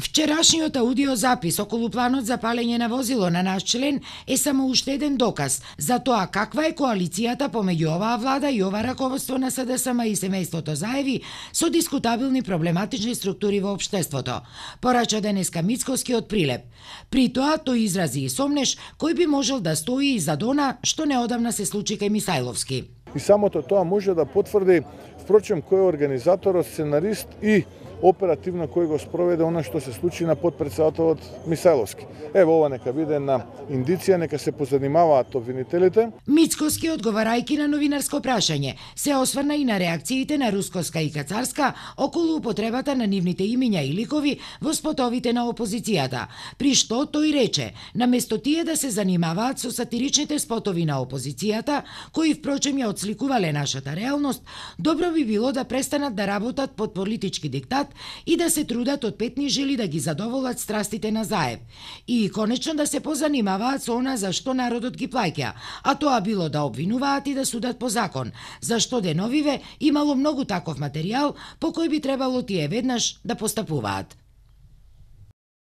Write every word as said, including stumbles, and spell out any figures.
Вчерашниот аудиозапис околу планот за палење на возило на наш член е само уште еден доказ за тоа каква е коалицијата помеѓу оваа влада и ова раководство на СДСМ и семејството Заеви со дискутабилни проблематични структури во општеството, порача денеска Мицкоскиот прилеп. При тоа тој изрази и сомнеш кој би можел да стои и зад она што неодамна се случи кај Мисајловски. И самото тоа може да потврди, впрочем, кој е организаторот, сценарист и оперативно кој го спроведе она што се случи на потпредседателот Мисајловски. Ево ова нека биде една индиција, нека се позанимаваат обвинителите. Мицкоски, одговарајќи на новинарско прашање, се осврна и на реакциите на Рускоска и Кацарска околу употребата на нивните имиња и ликови во спотовите на опозицијата, при што тој рече, наместо тие да се занимаваат со сатиричните спотови на опозицијата, кои впрочем ја отсликувале нашата реалност, добро би било да престанат да работат под политички диктат и да се трудат од петни жили да ги задоволат страстите на Заев. И конечно да се позанимаваат со она за што народот ги плаќа, а тоа било да обвинуваат и да судат по закон, зашто деновиве имало многу таков материјал по кој би требало тие веднаш да постапуваат.